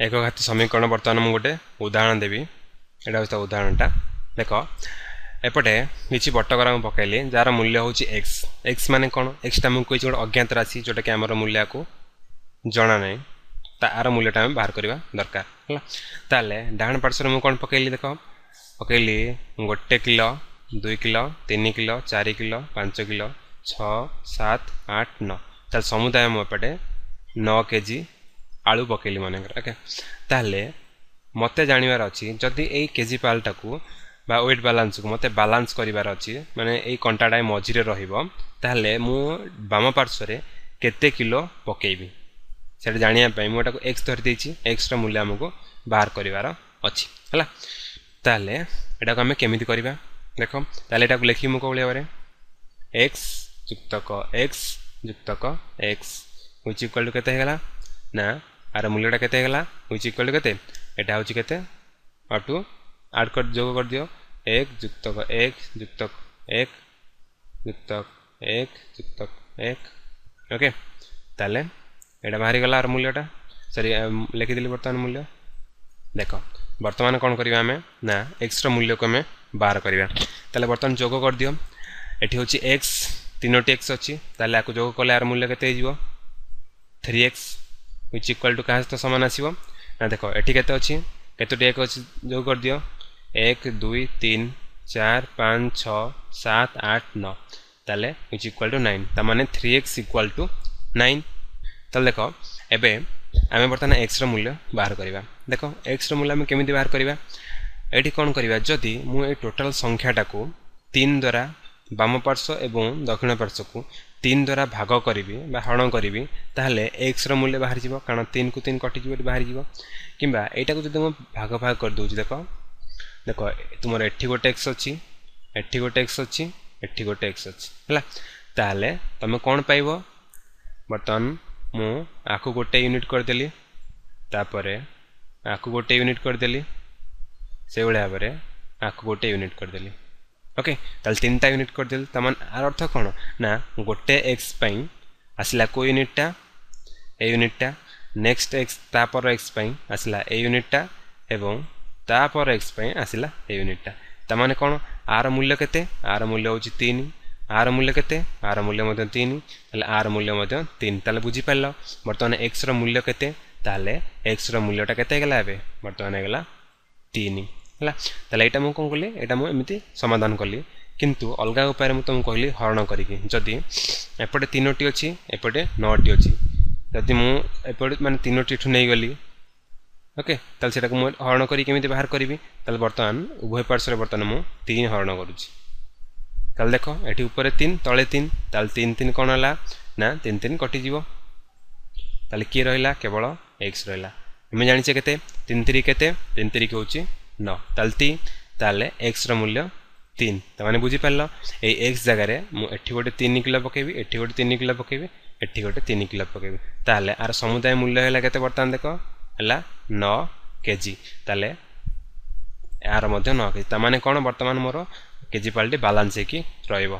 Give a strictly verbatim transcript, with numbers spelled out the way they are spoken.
ଏକଘାତୀ ସମୀକରଣ ବର୍ତ୍ତମାନ ମୁଁ ଗୋଟେ ଉଦାହରଣ ଦେବି ଏଇଟା ହେଉଛି ତା ଉଦାହରଣଟା ଦେଖ ଏପଟେ କିଛି ବଟକରା ମୁଁ ପକାଇଲି ଯାହାର ମୂଲ୍ୟ ହେଉଛି ଏକ୍ସ ଏକ୍ସ ମାନେ କ'ଣ ଏକ୍ସଟା ମୁଁ କହିଛି ଗୋଟେ ଅଜ୍ଞାତ ରାଶି ଯେଉଁଟାକି ଆମର ମୂଲ୍ୟକୁ ଜଣା ନାହିଁ ତାର ମୂଲ୍ୟଟା ଆମେ ବାହାର କରିବା ଦରକାର ହେଲା ତାହେଲେ ଡାହାଣ ପାର୍ଶ୍ୱରେ ମୁଁ କ'ଣ ପକାଇଲି ଦେଖ ପକାଇଲି ଗୋଟେ କିଲୋ ଦୁଇ କିଲୋ ତିନି କିଲୋ ଚାରି କିଲୋ ପାଞ୍ଚ କିଲୋ ଛଅ ସାତ ଆଠ ନଅ ତାହେଲେ ସମୁଦାୟ ମୁଁ ଏପଟେ ନଅ କେଜି ଆଳୁ ପକାଇଲି ମନେକର ଓକେ ତାହେଲେ ମୋତେ ଜାଣିବାର ଅଛି ଯଦି ଏଇ କେଜି ପାଲଟାକୁ ବା ୱେଟ୍ ବାଲାନ୍ସକୁ ମୋତେ ବାଲାନ୍ସ କରିବାର ଅଛି ମାନେ ଏଇ କଣ୍ଟାଟା ମଝିରେ ରହିବ ତାହେଲେ ମୁଁ ବାମ ପାର୍ଶ୍ୱରେ କେତେ କିଲୋ ପକାଇବି ସେଇଟା ଜାଣିବା ପାଇଁ ମୁଁ ଏଟାକୁ ଏକ୍ସ ଧରି ଦେଇଛି ଏକ୍ସର ମୂଲ୍ୟ ଆମକୁ ବାହାର କରିବାର ଅଛି ହେଲା ତାହେଲେ ଏଟାକୁ ଆମେ କେମିତି କରିବା ଦେଖ ତାହେଲେ ଏଟାକୁ ଲେଖିବି ମୁଁ କେଉଁ ଭାବରେ ଏକ୍ସ ଯୁକ୍ତକ ଏକ୍ସ ଯୁକ୍ତକ ଏକ୍ସ which equal to କେତେ ହେଇଗଲା ନା ଆର ମୂଲ୍ୟଟା କେତେ ହେଇଗଲା which equal to କେତେ ଏଟା ହେଉଛି କେତେ ଅପ୍ ଟୁ ଆଡ଼୍ କରି ଯୋଗ କରିଦିଅ ଏକ ଯୁକ୍ତକ ଏକ ଯୁକ୍ତକ ଏକ ଯୁକ୍ତକ ଏକ ଯୁକ୍ତକ ଏକ ଓକେ ତାହେଲେ ଏଇଟା ବାହାରିଗଲା ଆର ମୂଲ୍ୟଟା ସରି ଲେଖିଦେଲି ବର୍ତ୍ତମାନ ମୂଲ୍ୟ ଦେଖ ବର୍ତ୍ତମାନ କ'ଣ କରିବା ଆମେ ନା ଏକ୍ସର ମୂଲ୍ୟକୁ ଆମେ ବାହାର କରିବା ତାହେଲେ ବର୍ତ୍ତମାନ ଯୋଗ କରିଦିଅ ଏଠି ହେଉଛି ଏକ୍ସ ତିନୋଟି ଏକ୍ସ ଅଛି ତାହେଲେ ଆକୁ ଯୋଗ କଲେ ଆର ମୂଲ୍ୟ କେତେ ହେଇଯିବ three x which equal to କାହା ସହିତ ସମାନ ଆସିବ ନା ଦେଖ ଏଠି କେତେ ଅଛି କେତୋଟି ଏକ ଅଛି ଯୋଗ କରିଦିଅ ଏକ ଦୁଇ ତିନି ଚାରି ପାଞ୍ଚ ଛଅ ସାତ ଆଠ ନଅ ତାହେଲେ which equal to nine ତାମାନେ three x equal to nine ତାହେଲେ ଦେଖ ଏବେ ଆମେ ବର୍ତ୍ତମାନ ଏକ୍ସର ମୂଲ୍ୟ ବାହାର କରିବା ଦେଖ ଏକ୍ସର ମୂଲ୍ୟ ଆମେ କେମିତି ବାହାର କରିବା ଏଇଠି କ'ଣ କରିବା ଯଦି ମୁଁ ଏଇ ଟୋଟାଲ ସଂଖ୍ୟାଟାକୁ ତିନି ଦ୍ୱାରା ବାମ ପାର୍ଶ୍ୱ ଏବଂ ଦକ୍ଷିଣ ପାର୍ଶ୍ୱକୁ ତିନି ଦ୍ୱାରା ଭାଗ କରିବି ବା ହରଣ କରିବି ତାହେଲେ ଏକ୍ସର ମୂଲ୍ୟ ବାହାରିଯିବ କାରଣ ତିନିକୁ ତିନି କଟିଯିବ ଏଠି ବାହାରିଯିବ କିମ୍ବା ଏଇଟାକୁ ଯଦି ମୁଁ ଭାଗ ଭାଗ କରିଦେଉଛି ଦେଖ ଦେଖ ତୁମର ଏଠି ଗୋଟେ ଏକ୍ସ ଅଛି ଏଠି ଗୋଟେ ଏକ୍ସ ଅଛି ଏଠି ଗୋଟେ ଏକ୍ସ ଅଛି ହେଲା ତାହେଲେ ତୁମେ କ'ଣ ପାଇବ ବର୍ତ୍ତମାନ ମୁଁ ଆକୁ ଗୋଟେ ୟୁନିଟ୍ କରିଦେଲି ତାପରେ ଆକୁ ଗୋଟେ ୟୁନିଟ୍ କରିଦେଲି ସେଇଭଳି ଭାବରେ ଆକୁ ଗୋଟେ ୟୁନିଟ୍ କରିଦେଲି ଓକେ ତାହେଲେ ତିନିଟା ୟୁନିଟ୍ କରିଦେଲି ତାମାନେ ଆର ଅର୍ଥ କ'ଣ ନା ଗୋଟେ ଏକ୍ସ ପାଇଁ ଆସିଲା କେଉଁ ୟୁନିଟ୍ଟା ଏ ୟୁନିଟ୍ଟା ନେକ୍ସଟ ଏକ୍ସ ତାପର ଏକ୍ସ ପାଇଁ ଆସିଲା ଏ ୟୁନିଟ୍ଟା ଏବଂ ତାପର ଏକ୍ସ ପାଇଁ ଆସିଲା ଏ ୟୁନିଟ୍ଟା ତାମାନେ କ'ଣ ଆର ମୂଲ୍ୟ କେତେ ଆର ମୂଲ୍ୟ ହେଉଛି ତିନି ଆର ମୂଲ୍ୟ କେତେ ଆର ମୂଲ୍ୟ ମଧ୍ୟ ତିନି ତାହେଲେ ଆର ମୂଲ୍ୟ ମଧ୍ୟ ତିନି ତାହେଲେ ବୁଝିପାରିଲ ବର୍ତ୍ତମାନ ଏକ୍ସର ମୂଲ୍ୟ କେତେ ତାହେଲେ ଏକ୍ସର ମୂଲ୍ୟଟା କେତେ ହେଇଗଲା ଏବେ ବର୍ତ୍ତମାନ ହେଇଗଲା ତିନି ହେଲା ତାହେଲେ ଏଇଟା ମୁଁ କ'ଣ କଲି ଏଇଟା ମୁଁ ଏମିତି ସମାଧାନ କଲି କିନ୍ତୁ ଅଲଗା ଉପାୟରେ ମୁଁ ତୁମକୁ କହିଲି ହରଣ କରିକି ଯଦି ଏପଟେ ତିନୋଟି ଅଛି ଏପଟେ ନଅଟି ଅଛି ଯଦି ମୁଁ ଏପଟେ ମାନେ ତିନୋଟି ଏଠୁ ନେଇଗଲି ଓକେ ତାହେଲେ ସେଟାକୁ ମୁଁ ହରଣ କରି କେମିତି ବାହାର କରିବି ତାହେଲେ ବର୍ତ୍ତମାନ ଉଭୟ ପାର୍ଶ୍ୱରେ ବର୍ତ୍ତମାନ ମୁଁ ତିନି ହରଣ କରୁଛି ତାହେଲେ ଦେଖ ଏଠି ଉପରେ ତିନି ତଳେ ତିନି ତାହେଲେ ତିନି ତିନି କ'ଣ ହେଲା ନା ତିନି ତିନି କଟିଯିବ ତାହେଲେ କିଏ ରହିଲା କେବଳ ଏକ୍ସ ରହିଲା ଆମେ ଜାଣିଛେ କେତେ ତିନି ତିରି କେତେ ତିନି ତିରିକି ହେଉଛି ନଅ ତାହେଲେ ତିନି ତାହେଲେ ଏକ୍ସର ମୂଲ୍ୟ ତିନି ତାମାନେ ବୁଝିପାରିଲ ଏଇ ଏକ୍ସ ଜାଗାରେ ମୁଁ ଏଠି ଗୋଟେ ତିନି କିଲୋ ପକାଇବି ଏଠି ଗୋଟେ ତିନି କିଲୋ ପକାଇବି ଏଠି ଗୋଟେ ତିନି କିଲୋ ପକାଇବି ତାହେଲେ ଆର ସମୁଦାୟ ମୂଲ୍ୟ ହେଲା କେତେ ବର୍ତ୍ତମାନ ଦେଖ ହେଲା ନଅ କେଜି ତାହେଲେ ଏହାର ମଧ୍ୟ ନଅ କେଜି ତାମାନେ କ'ଣ ବର୍ତ୍ତମାନ ମୋର କେଜି ପାଲଟି ବାଲାନ୍ସ ହେଇକି ରହିବ।